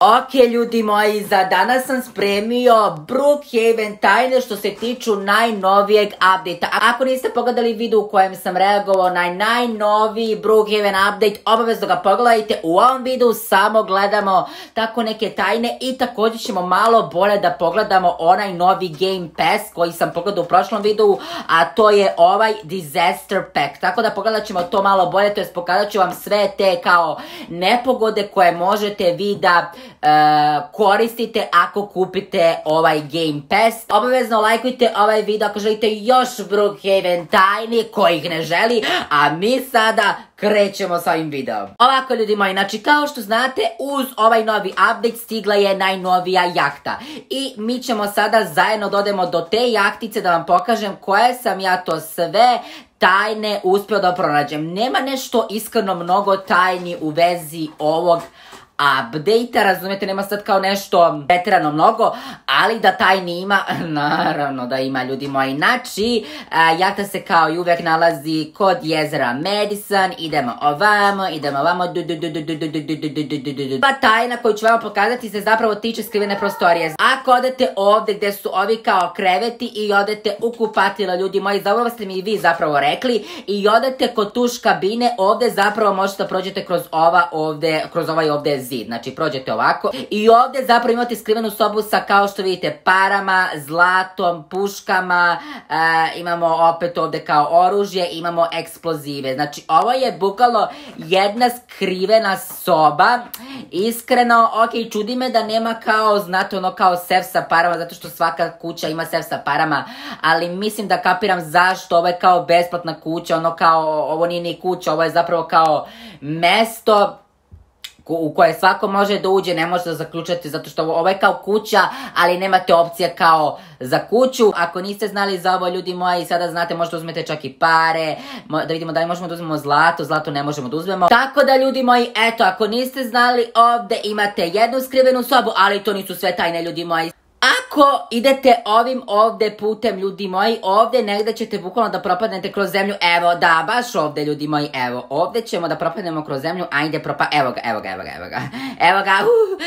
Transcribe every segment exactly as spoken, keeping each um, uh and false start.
Ok, ljudi moji, za danas sam spremio Brookhaven tajne što se tiču najnovijeg update-a. Ako niste pogledali video u kojem sam reagovao na najnoviji Brookhaven update, obavezno ga pogledajte. U ovom videu samo gledamo tako neke tajne i također ćemo malo bolje da pogledamo onaj novi Game Pass koji sam pogledao u prošlom videu, a to je ovaj Disaster Pack. Tako da pogledat ćemo to malo bolje, to jest pokazat ću vam sve te kao nepogode koje možete vi da Uh, koristite ako kupite ovaj Game Pass. Obavezno lajkujte ovaj video ako želite još Brookhaven tajni kojih ne želi, a mi sada krećemo sa ovim videom. Ovako, ljudi moji, znači kao što znate, uz ovaj novi update stigla je najnovija jahta i mi ćemo sada zajedno dodemo do te jahtice da vam pokažem koje sam ja to sve tajne uspio da pronađem. Nema nešto iskreno mnogo tajni u vezi ovog update-a, razumijete, nema sad kao nešto pretjerano mnogo, ali da tajni ima, naravno da ima, ljudi moji. Znači, jahta se kao i uvijek nalazi kod jezera Madison, idemo ovamo, idemo ovamo, du du du du du du du du du du du du. Pa tajna koju ću vam pokazati se zapravo tiče skrivene prostorije. Ako odete ovdje gdje su ovi kao kreveti i odete u kupatilo, ljudi moji, za ovo ste mi i vi zapravo rekli, i odete kod tuš kabine, ovdje zapravo možete da prođete kroz ova ovdje, kroz ovaj ovdje zid. Znači prođete ovako i ovdje zapravo imate skrivenu sobu sa, kao što vidite, parama, zlatom, puškama, e, imamo opet ovdje kao oružje, imamo eksplozive. Znači ovo je bukvalno jedna skrivena soba. Iskreno, ok, čudi me da nema kao, znate, ono kao sef sa parama, zato što svaka kuća ima sef sa parama, ali mislim da kapiram zašto. Ovo je kao besplatna kuća, ono kao, ovo nije ni kuća, ovo je zapravo kao mesto u koje svako može da uđe, ne može da zaključate, zato što ovo je kao kuća, ali nemate opcija kao za kuću. Ako niste znali za ovo, ljudi moji, sada znate, možete uzmete čak i pare, da vidimo da li možemo da uzmemo zlato, zlato ne možemo da uzmemo. Tako da, ljudi moji, eto, ako niste znali, ovdje imate jednu skrivenu sobu, ali to nisu sve tajne, ljudi moji. Ako idete ovim ovdje putem, ljudi moji, ovdje negdje ćete bukvalno da propadnete kroz zemlju. Evo, da, baš ovdje, ljudi moji, evo, ovdje ćemo da propadnemo kroz zemlju. Ajde, propa, evo ga, evo ga, evo ga, evo ga, evo ga, uh,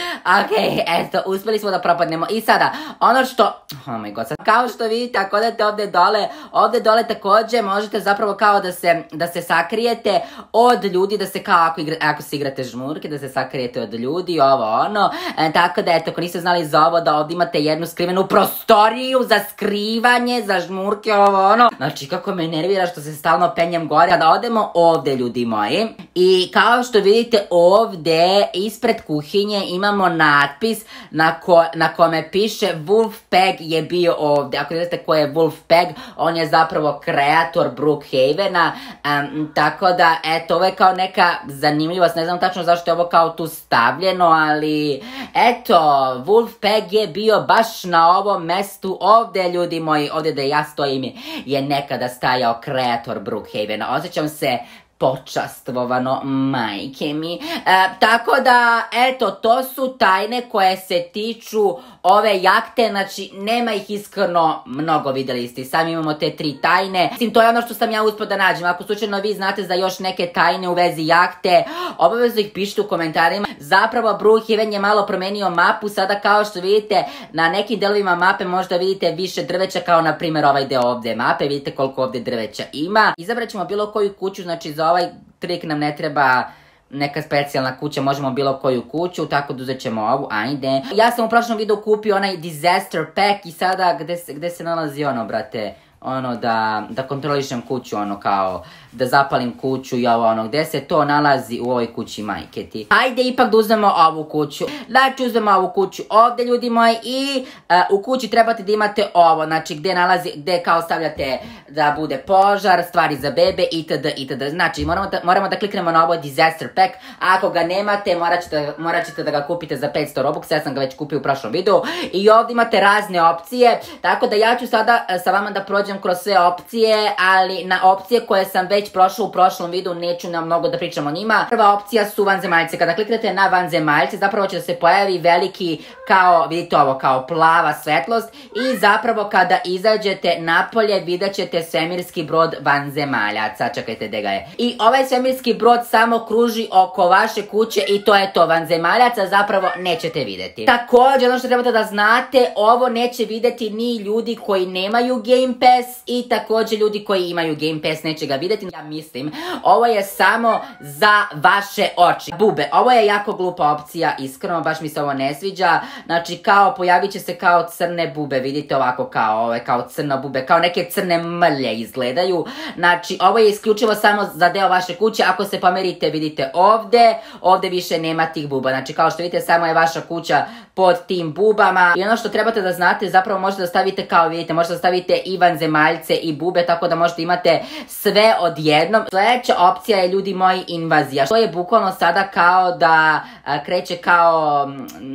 ok, eto, uspjeli smo da propadnemo. I sada, ono što, oh my god, sad, kao što vidite, ako odete ovdje dole, ovdje dole također možete zapravo kao da se, da se sakrijete od ljudi, da se kao, ako, igra, ako se igrate žmurke, da se sakrijete od ljudi, ovo, ono, e, tako da, eto, ako niste znali za ovo, da ovdje imate jednu skrivenu prostoriju za skrivanje, za žmurke, ovo ono. Znači, kako me nervira što se stalno penjem gore. Kada odemo ovdje, ljudi moji, i kao što vidite ovdje ispred kuhinje imamo natpis na, ko, na kome piše Wolfpack je bio ovdje. Ako vidite ko je Wolfpack, on je zapravo kreator Brookhavena, um, tako da, eto, ovo je kao neka zanimljivost, ne znam tačno zašto je ovo kao tu stavljeno, ali eto, Wolfpack je bio baš na ovom mestu ovdje, ljudi moji, ovdje da ja stojim je nekada stajao kreator Brookhavena. Osjećam se počastvovano, majke mi. E, tako da, eto, to su tajne koje se tiču ove jahte, znači nema ih iskreno mnogo, vidjeli ste, sami imamo te tri tajne. Mislim, to je ono što sam ja uspio da nađem. Ako slučajno vi znate za još neke tajne u vezi jahte, obavezno ih pišite u komentarima. Zapravo Brookhaven je malo promenio mapu, sada kao što vidite na nekim delovima mape možda vidite više drveća, kao na primjer ovaj deo ovdje mape, vidite koliko ovdje drveća ima. Izabrat ćemo bilo koju kuću, znači za ovaj trik nam ne treba neka specijalna kuća, možemo bilo koju kuću, tako da uzet ćemo ovu, ajde. Ja sam u prošlom videu kupio onaj Disaster Pack i sada gde se, gde se nalazi ono, brate, ono da, da kontrolišem kuću, ono kao da zapalim kuću i ovo ono, gde se to nalazi u ovoj kući, majke ti. Hajde ipak da uzmemo ovu kuću. Znači uzmemo ovu kuću ovdje, ljudi moji, i uh, u kući trebate da imate ovo, znači gde nalazi, gde kao stavljate da bude požar, stvari za bebe, itd, itd. Znači moramo da, moramo da kliknemo na ovo Disaster Pack, a ako ga nemate, morat ćete, morat ćete da ga kupite za petsto Robux, ja sam ga već kupio u prošlom videu, i ovdje imate razne opcije, tako da ja ću sada uh, sa vama da prođem prođem kroz sve opcije, ali na opcije koje sam već prošla u prošlom videu neću nam mnogo da pričam o njima. Prva opcija su vanzemaljce. Kada kliknete na vanzemaljce, zapravo će da se pojavi veliki kao, vidite ovo, kao plava svetlost i zapravo kada izađete napolje vidjet ćete svemirski brod vanzemaljaca. Čekajte gde ga je. I ovaj svemirski brod samo kruži oko vaše kuće i to je to. Vanzemaljaca zapravo nećete vidjeti. Također, ono što trebate da znate, ovo neće vidjeti ni ljudi koji nemaju Game Pass i također ljudi koji imaju Game Pass neće ga vidjeti. Ja mislim, ovo je samo za vaše oči. Bube, ovo je jako glupa opcija, iskreno, baš mi se ovo ne sviđa. Znači, kao pojavit će se kao crne bube, vidite ovako kao ove, kao crne bube, kao neke crne mrlje izgledaju. Znači, ovo je isključivo samo za deo vaše kuće. Ako se pomerite, vidite ovde, ovde više nema tih buba. Znači, kao što vidite, samo je vaša kuća pod tim bubama. I ono što trebate da znate, zapravo možete da stavite, kao vidite, možete da stavite i vanzemaljce i bube, tako da možete imate sve odjednom. Sljedeća opcija je, ljudi moji, invazija. To je bukvalno sada kao da a, kreće kao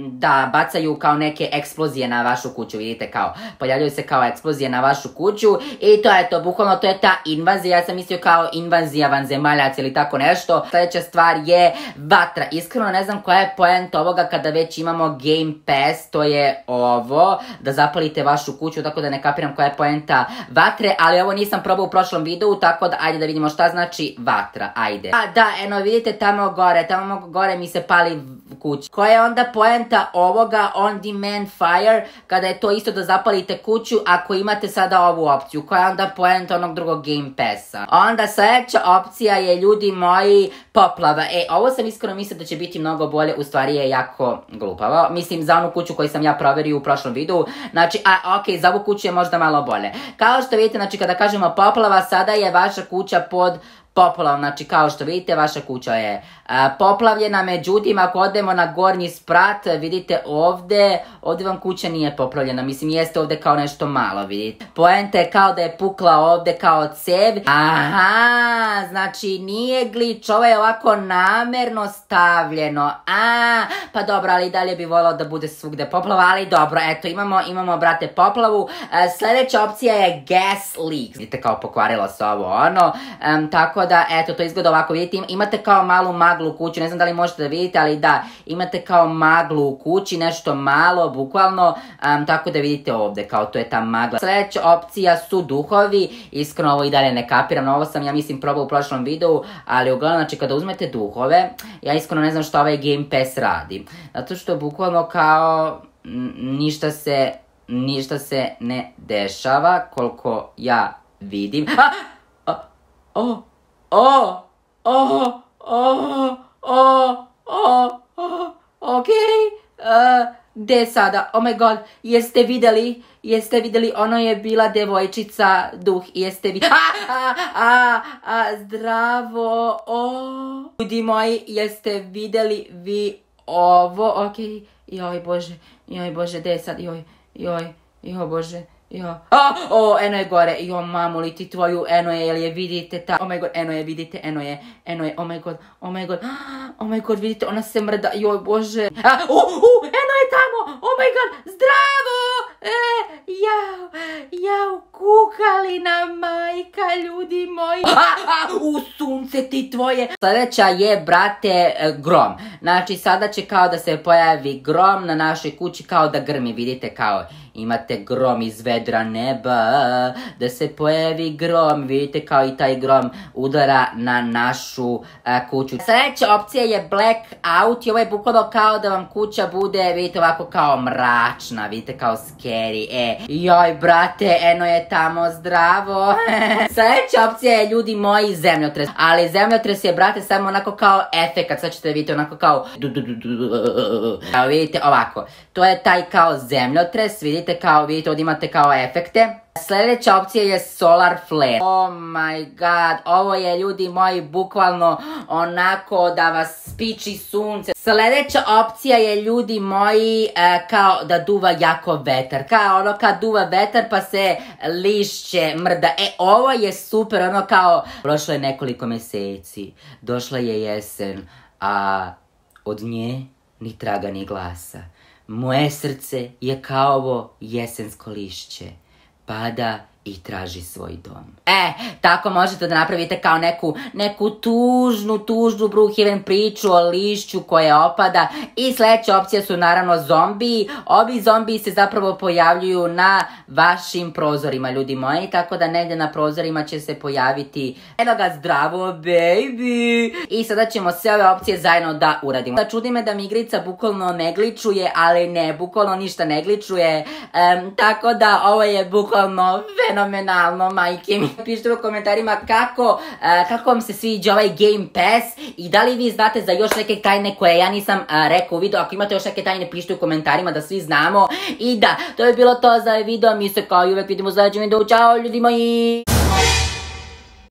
da bacaju kao neke eksplozije na vašu kuću, vidite, kao pojavljaju se kao eksplozije na vašu kuću i to je to, bukvalno to je ta invazija. Ja sam mislio kao invazija vanzemaljaca ili tako nešto. Sljedeća stvar je vatra. Iskreno ne znam koja je poenta ovoga kada već imamo Game Pass, to je ovo, da zapalite vašu kuću, tako da ne kapiram koja je poenta vatre, ali ovo nisam probao u prošlom videu, tako da ajde da vidimo šta znači vatra, ajde. A da, eno vidite tamo gore, tamo gore mi se pali kuća. Koja je onda poenta ovoga on demand fire, kada je to isto da zapalite kuću ako imate sada ovu opciju? Koja je onda poenta onog drugog Game Passa? Onda sljedeća opcija je, ljudi moji, poplava. E, ovo sam iskreno mislila da će biti mnogo bolje, u stvari je jako glupavo. Mislim, za onu kuću koju sam ja proverio u prošlom videu. Znači, a, ok, za ovu kuću je možda malo bolje. Kao što vidite, znači, kada kažemo poplava, sada je vaša kuća pod poplavom. Znači, kao što vidite, vaša kuća je a, poplavljena. Međutim, ako odemo na gornji sprat, vidite ovde, ovde vam kuća nije poplavljena. Mislim, jeste ovde kao nešto malo, vidite. Poenta je kao da je pukla ovde kao cev. Aha, znači nije glič, ovo je ovako namerno stavljeno. A, pa dobro, ali dalje bi volao da bude svugde poplava, ali dobro, eto, imamo, imamo, brate, poplavu. A, sljedeća opcija je gas leaks. Vidite, kao pokvarilo se ovo, ono, um, tako da, eto, to izgleda ovako, vidite, imate kao malu maglu u kući, ne znam da li možete da vidite, ali da, imate kao maglu u kući, nešto malo, bukvalno, um, tako da vidite ovde, kao to je ta magla. Sljedeća opcija su duhovi, iskreno ovo i dalje ne kapiram, ovo sam, ja mislim, probao u prošlom videu, ali uglavnom, znači, kada uzmete duhove, ja iskreno ne znam što ovaj Game Pass radi, zato što bukvalno kao ništa se, ništa se ne dešava, koliko ja vidim. A! O! O, o, o, o, o, o, okej, gde sada, oh my god, jeste videli, jeste videli, ono je bila devojčica duh, jeste videli, a, a, a, a, zdravo, o, ljudi moji, jeste videli vi ovo, okej, joj bože, joj bože, gde sad, joj, joj, joj bože, jo, a, o, eno je gore, jo, mamu li ti tvoju, eno je, jel je vidite ta, oh my god, eno je, vidite, eno je, eno je, oh my god, oh my god, oh my god, vidite, ona se mrda, joj, bože, a, u, u, eno je tamo, oh my god, zdravo, e, jao, jao, kukalina majka, ljudi moji, a, a, u, sunce ti tvoje. Sljedeća je, brate, grom, znači, sada će kao da se pojavi grom na našoj kući, kao da grmi, vidite, kao, imate grom iz vedra neba, da se pojavi grom, vidite kao i taj grom udara na našu a, kuću. Sljedeća opcija je blackout i ovo je bukvalno kao da vam kuća bude, vidite, ovako kao mračna, vidite, kao scary, e, joj, brate, eno je tamo, zdravo. Sljedeća opcija je, ljudi moji, zemljotres, ali zemljotres je, brate, samo onako kao efekat, sad ćete vidjeti onako kao, evo vidite, ovako, to je taj kao zemljotres, vidite, kao, vidite, ovdje imate kao efekte. Sljedeća opcija je solar flare. Oh my god, ovo je, ljudi moji, bukvalno onako da vas spiči sunce. Sljedeća opcija je, ljudi moji, e, kao da duva jako vetar. Kao ono kad duva vetar pa se lišće mrda. E, ovo je super, ono kao, prošlo je nekoliko mjeseci, došla je jesen, a od nje ni traga ni glasa. Moje srce je kao ovo jesensko lišće. Pada i traži svoj dom. E, tako možete da napravite kao neku, neku tužnu, tužnu Brookhaven priču o lišću koje opada i sljedeća opcija su naravno zombiji. Ovi zombiji se zapravo pojavljuju na vašim prozorima, ljudi moji, tako da negdje na prozorima će se pojaviti eno ga zdravo, baby! I sada ćemo sve ove opcije zajedno da uradimo. Da čudi me da mi igrica bukvalno ne gličuje, ali ne, bukvalno ništa ne gličuje, um, tako da ovo je bukvalno fenomenalno, majke mi. Pišite u komentarima kako, uh, kako vam se sviđa ovaj Game Pass i da li vi znate za još neke tajne koje ja nisam uh, rekao u videu. Ako imate još neke tajne, pišite u komentarima da svi znamo. I da, to je bilo to za ovaj video, mi se kao i uvek vidimo u sljedećem videu. Ćao ljudi moji!